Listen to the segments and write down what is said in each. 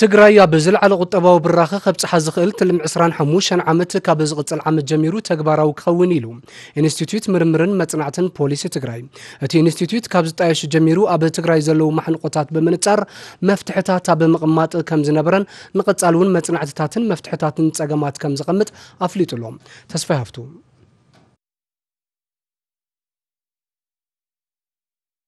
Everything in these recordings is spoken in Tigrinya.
ትግራይ ኣብ ዝለዓለ ቁጠባዊ ብራኸ ከብጽሓ ዝኽእል ትልሚ ዕስራን ሓሙሽተን ዓመት ካብ ዝቕጽል ዓመት ጀሚሩ ተግባራዊ ክኸውን ኢሉ ኢንስቲትዩት ምርምርን መጽናዕትን ፖሊሲ ትግራይ። እቲ ኢንስቲትዩት ካብ ዝጣየሽ ጀሚሩ ኣብ ትግራይ ዘለዉ ማሕንቆታት ብምንጻር መፍትሕታት ኣብ ምቕማጥ ከም ዝነበረን ንቐጻሊ እውን መጽናዕትታትን መፍትሕታትን ጸገማት ከም ዘቐምጥ ኣፍሊጡ ኣሎ። ተስፋይ ሃፍቱ።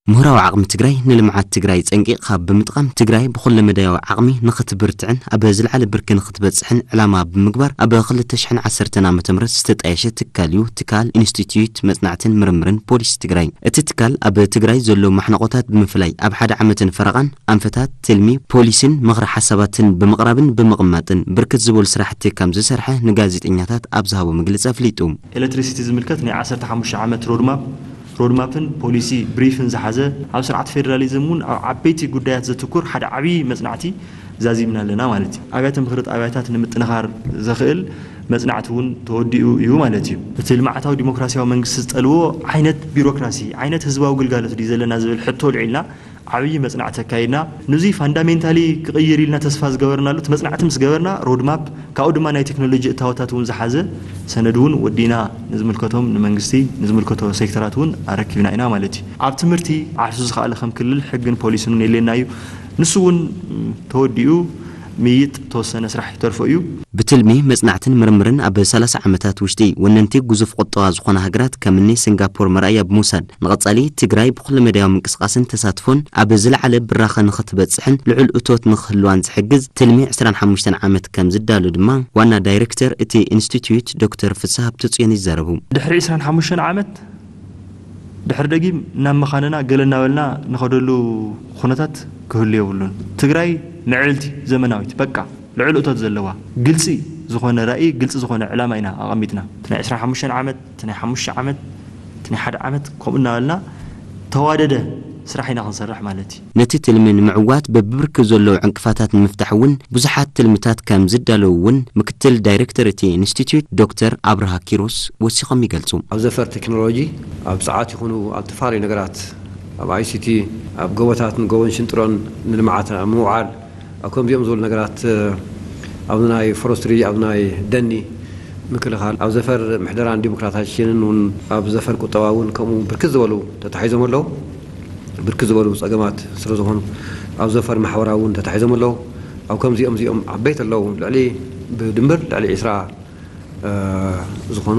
ምሁራዊ ዓቕሚ ትግራይ ንልምዓት ትግራይ ጸንቂቕካ ብምጥቓም ትግራይ ብኹለ መዳያዊ ዓቕሚ ንኽትብርትዕን ኣብ ዝለዓለ ብርኪ ንኽትበጽሕን ዕላማ ብምግባር ኣብ ክልተ ሽሕን ዓሰርተን ዓመተ ምህረት ዝተጣየሸ ትካል እዩ ትካል ኢንስቲትዩት መጽናዕትን ምርምርን ፖሊሲ ትግራይ። እቲ ትካል ኣብ ትግራይ ዘሎ ማሕነቆታት ብምፍላይ ኣብ ሓደ ዓመትን ፈረቓን ኣንፈታት ትልሚ ፖሊሲን ምኽሪ ሓሳባትን ብምቕራብን ብምቕማጥን ብርክት ዝበሉ ስራሕቲ ከም ዝሰርሐ ንጋዜጠኛታት ኣብ ዝሃቦ መግለጺ ኣፍሊጡ። ኤሌክትሪሲቲ ዝምልከት ናይ ዓሰርተ ሓሙሽተ ዓመት ሮድማፕ ሮድማፕን ፖሊሲ ብሪፍን ዝሓዘ ኣብ ስርዓት ፌደራሊዝም እውን ኣብ ዓበይቲ ጉዳያት ዘትኩር ሓደ ዓብዪ መፅናዕቲ ዛዚምና ኣለና ማለት እዩ። ኣብያተ ምኽሪ ጣብያታት ንምጥንኻር ዘኽእል መፅናዕቲ እውን ተወዲኡ እዩ ማለት እዩ። እቲ ልምዓታዊ ዲሞክራሲያዊ መንግስቲ ዝጠልቦ ዓይነት ቢሮክራሲ ዓይነት ህዝባዊ ግልጋሎት ድዩ ዘለና ዝብል ሕቶ ኣልዒልና ዓብዪ መፅናዕቲ ኣካይድና። ንዙይ ፋንዳሜንታሊ ክቕይር ኢልና ተስፋ ዝገበርናሉ እቲ መፅናዕቲ ምስ ገበርና ሮድማፕ ካብኡ ድማ ናይ ቴክኖሎጂ እታወታት እውን ዝሓዘ ሰነድ እውን ወዲእና ንዝምልከቶም ንመንግስቲ ንዝምልከቶ ሴክተራት እውን ኣረኪብና ኢና ማለት እዩ። ኣብ ትምህርቲ ዓርሱ ዝኸኣለ ከም ክልል ሕግን ፖሊስን እውን የድልየና እዩ። ንሱ እውን ተወዲኡ ምይጥ ተወሰነ ስራሕ ይተርፎ እዩ። ብትልሚ መጽናዕትን ምርምርን ኣብ ሰላሳ ዓመታት ውሽጢ ወነንቲ ግዙፍ ቁጠባ ዝኾና ሃገራት ከምኒ ሲንጋፖር መርኣያ ብምውሳድ ንቐጻሊ ትግራይ ብኩለመዳያዊ ምንቅስቓስን ተሳትፎን ኣብ ዝለዓለ ብራኸ ንኽትበጽሕን ልዑል እቶት ንኽህልዋን ዝሕግዝ ትልሚ ዕስራን ሓሙሽተን ዓመት ከም ዝዳሎ ድማ ዋና ዳይሬክተር እቲ ኢንስቲትዩት ዶክተር ፍስሃ ሃብተጽዮን ይዛረቡ። ድሕሪ ዕስራን ሓሙሽተን ዓመት ድሕሪ ደጊም ናብ መኻንና ገለ እናበልና ንኸደሉ ኩነታት ክህሉ የብሉን። ትግራይ ምዕብልቲ ዘመናዊት በቃ ልዑል እቶት ዘለዋ ግልፂ ዝኾነ ራኢ ግልፂ ዝኾነ ዕላማ ኢና ኣቐሚጥና። እቲ ናይ ዕስራን ሓሙሽተን ዓመት እቲ ናይ ሓሙሽተ ዓመት እቲ ናይ ሓደ ዓመት ከምኡ እናበልና ተዋደደ ስራሕ ኢና ክንሰርሕ ማለት እዩ። ነቲ ትልሚ ንምዕዋት በብብርኪ ዘለዉ ዕንቅፋታት ንምፍታሕ እውን ብዙሓት ትልምታት ከም ዝዳለዉ እውን ምክትል ዳይሬክተር እቲ ኢንስቲትዩት ዶክተር ኣብርሃ ኪሮስ ወሲኾም ይገልጹ። ኣብ ዘፈር ቴክኖሎጂ ኣብ ጸዓት ይኹኑ ኣብ ዝተፈላለዩ ነገራት ኣብ ኣይሲቲ ኣብ ጎቦታት ንጎቦን ሽንጥሮን ንልምዓት ኣብ ምውዓል ኣብ ከምዚኦም ዝበሉ ነገራት ኣብ ናይ ፎረስትሪ ኣብ ናይ ደኒ ምክልኻል ኣብ ዘፈር ምሕደራን ዲሞክራታይዜሽንን እውን ኣብ ዘፈር ቁጠባ እውን ከምኡ ብርክት ዝበሉ ተታሒዞም ኣለዉ። ብርክት ዝበሉ ፀገማት ስለ ዝኾኑ ኣብ ዘፈር ማሕበራዊ እውን ተታሒዞም ኣለዉ። ኣብ ከምዚኦም እዚኦም ዓበይቲ ኣለዉ። ልዕሊ ብድምር ልዕሊ ዒስራ ዝኾኑ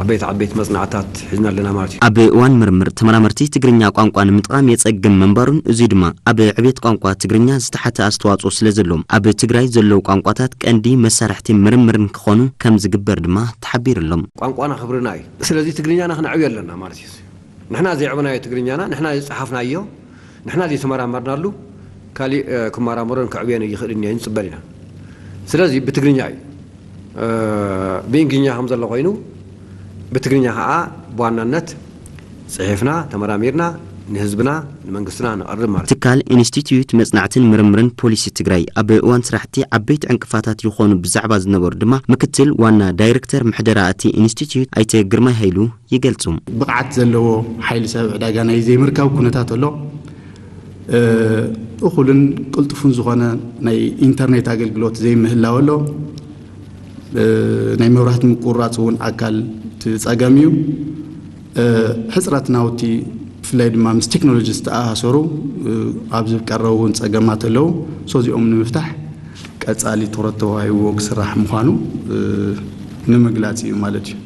ዓበይቲ ዓበይቲ መፅናዕትታት ሒዝና ኣለና ማለት እዩ። ኣብ እዋን ምርምር ተመራመርቲ ትግርኛ ቋንቋ ንምጥቓም የፀግም ምንባሩን እዙይ ድማ ኣብ ዕቤት ቋንቋ ትግርኛ ዝተሓተ ኣስተዋፅኦ ስለ ዘለዎም ኣብ ትግራይ ዘለዉ ቋንቋታት ቀንዲ መሳርሕቲ ምርምር ንክኾኑ ከም ዝግበር ድማ ተሓቢሩ ኣሎ። ቋንቋና ክብርና እዩ። ስለዚ ትግርኛና ክነዕብዮ ኣለና ማለት እዩ። ንሕና ዘየዕበናዮ ትግርኛና ንሕና ዝፀሓፍናዮ ንሕና ዘይተመራመርናሉ ካሊእ ክመራመሮን ከዕብዮን ይኽእልን እየ ንፅበል ኢና። ስለዚ ብትግርኛ እዩ ብእንግሊዝኛ ከም ዘሎ ኮይኑ ብትግርኛ ከዓ ብዋናነት ፅሒፍና ተመራሚርና ንህዝብና ንመንግስትና ነቕርብ ማለት እዩ። ትካል ኢንስቲትዩት መፅናዕትን ምርምርን ፖሊሲ ትግራይ ኣብ እዋን ስራሕቲ ዓበይቲ ዕንቅፋታት ይኾኑ ብዛዕባ ዝነበሩ ድማ ምክትል ዋና ዳይሬክተር ምሕደራ እቲ ኢንስቲትዩት ኣይተ ግርማይ ሃይሉ ይገልጹ። ብቕዓት ዘለዎ ሓይሊ ሰብ ዕዳጋ ናይ ዘይምርካብ ኩነታት ኣሎ። እኹልን ቅልጡፍን ዝኾነ ናይ ኢንተርኔት ኣገልግሎት ዘይምህላው ኣሎ። ናይ መብራህቲ ምቁርራፅ እውን ኣካል እቲ ፀገም እዩ። ሕፅረት ናውቲ ብፍላይ ድማ ምስ ቴክኖሎጂ ዝተኣሳሰሩ ኣብዚ ቀረቡ እውን ፀገማት ኣለዉ። ሶ እዚኦም ንምፍታሕ ቀፃሊ ትኹረት ተዋሂብዎ ክስራሕ ምዃኑ ንምግላፅ እዩ ማለት እዩ።